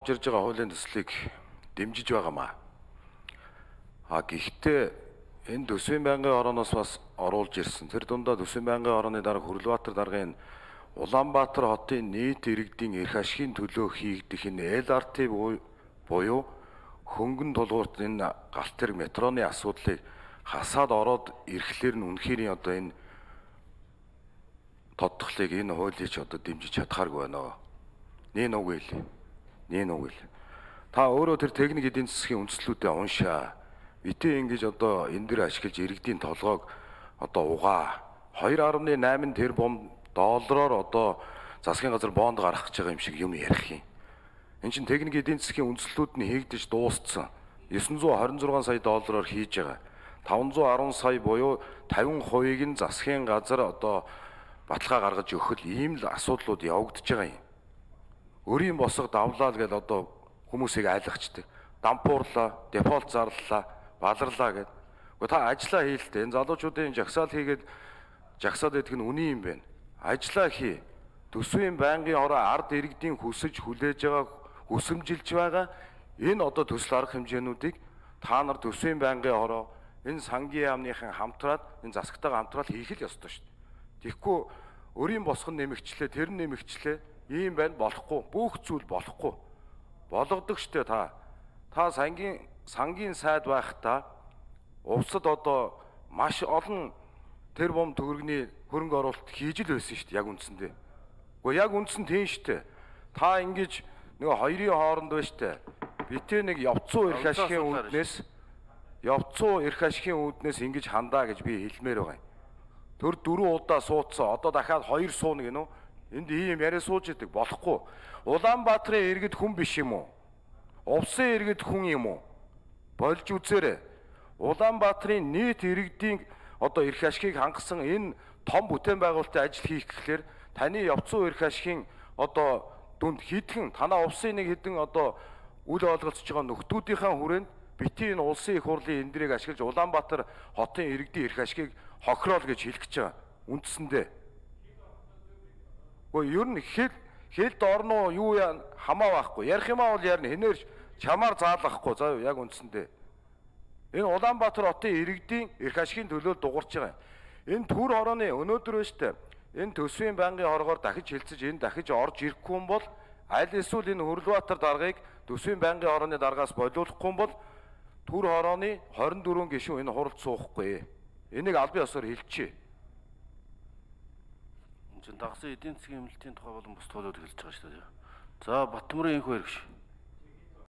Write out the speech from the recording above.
Ирж байгаа хуулийн төслийг дэмжиж байгаамаа. Гэхдээ энэ Төсвийн байнгын орооноос бас оруулж ирсэн. Тэр дундаа Төсвийн байнгын орооны дарга Хүрлбаатар даргын Улаанбаатар хотын нийт иргэдийн эрх ашигын төлөө хийгдэх энэ LRT буюу хөнгөн тулгуурт энэ галт тэрэг метроны асуудлыг хасаад ороод ирэхлээр нь үнэхээр одоо энэ тодтголыг энэ хуулийг ч одоо дэмжиж чадхааргүй байна. Нин үгүй л. Та өөрөө тэр техник эдийн засгийн үндслүүдээ уншаа. Битээ ингэж одоо энэ дэр ашиглаж иргэдийн толгойг одоо угаа 2.8 тэрбум доллараар одоо засгийн газар бонд гаргах гэж байгаа юм шиг юм ярих юм. Энэ чинь техник эдийн засгийн үндслүүд нь хийгдэж дууссан. 926 сая доллараар хийж байгаа. 510 сая буюу 50%-ийг нь засгийн газар одоо баталгаа гаргаж өгөх ийм л асуудлууд явагдаж байгаа юм. Өрийн босго давлаа л гэж одоо хүмүүсийг айлгачдаг. Дампуурлаа, дефолт зарлалаа, баларлаа гэд. Гэхдээ та ажиллаа хийлтэй. Энэ залуучуудын жагсаал хийгээд жагсаад идэх нь үний юм байна. Ажиллаа хий. Төсвийн байнгын ороо ард иргэдийн хүсэж хүлээж байгаа, хүсэмжилж байгаа энэ одоо төсөл арга хэмжээнүүдийг та нар Төсвийн байнгын ороо энэ сангийн яамныхан хамтраад энэ засагтайгаа хамтраад хийх л ёстой шүү дээ. Тэгэхгүй өрийн босгон нэмэгчлээ, тэр нь нэмэгчлээ. Ийм байна болохгүй. Бүх зүйл болохгүй. Болгодог штэ та. Та сангийн сайд байхдаа увсад одоо маш олон тэрбум төгрөгийн хөрөнгө оруулалт хийж л байсан штэ яг үндсэндээ. Гэхдээ яг үндсэн тийм штэ. Та ингэж нөгөө хоёрын хооронд байна штэ. Битээ нэг явцуу эрх ашигын үүднээс ингэж хандаа гэж би хэлмээр байгаа юм. Тэр 4 удаа суудсан. Одоо дахиад 2 сууна гинөө. Энд ийм яриа сууж идэг болохгүй. Улаанбаатарын иргэд хүн биш юм уу? Увсын иргэд хүн юм уу? Болж үзээрэй. Улаанбаатарын нийт иргэдийн одоо эрх ашигыг хангасан энэ том бүтээн байгуулалтын ажил хийх гэхлээр таны явцуу эрх ашигын одоо дүнд хідхэн танаа увсын нэг хідэн одоо үл ойлголцож байгаа нөхдүүдийнхээ хүрээнд битгий энэ улсын их хурлын эндрийг ашиглаж Улаанбаатар хотын иргэдийн эрх ашигыг хохироол гэж хэлэх гэж байгаа. Үндсэндээ. Ер нь хэлд орноо юу яа хамаа байхгүй. Ярих юмаа бол ярина. Хинээр чамаар заалгахгүй. За яг үндсэндээ. Энэ Улаанбаатар хотын иргэдийн эрх ашигын төлөө дуурч байгаа юм. Энэ төр хорооны өнөөдөр өштэй энэ Төсвийн байнгын хорогоор дахиж хилцэж энэ дахиж орж ирэхгүй юм бол аль эсвэл энэ Хүрлбаатар даргаыг Төсвийн байнгын хорооны даргаас болиулахгүй юм бол төр хорооны 24 гишүүн энэ хуралд суухгүй. Энийг албан ёсоор хэлчихье. Дагсан эдийн засгийн эмнэлтийн тухай болон бус тоолоод хэлж байгаа шүү дээ. За Батмөрийн энх баяр гэж.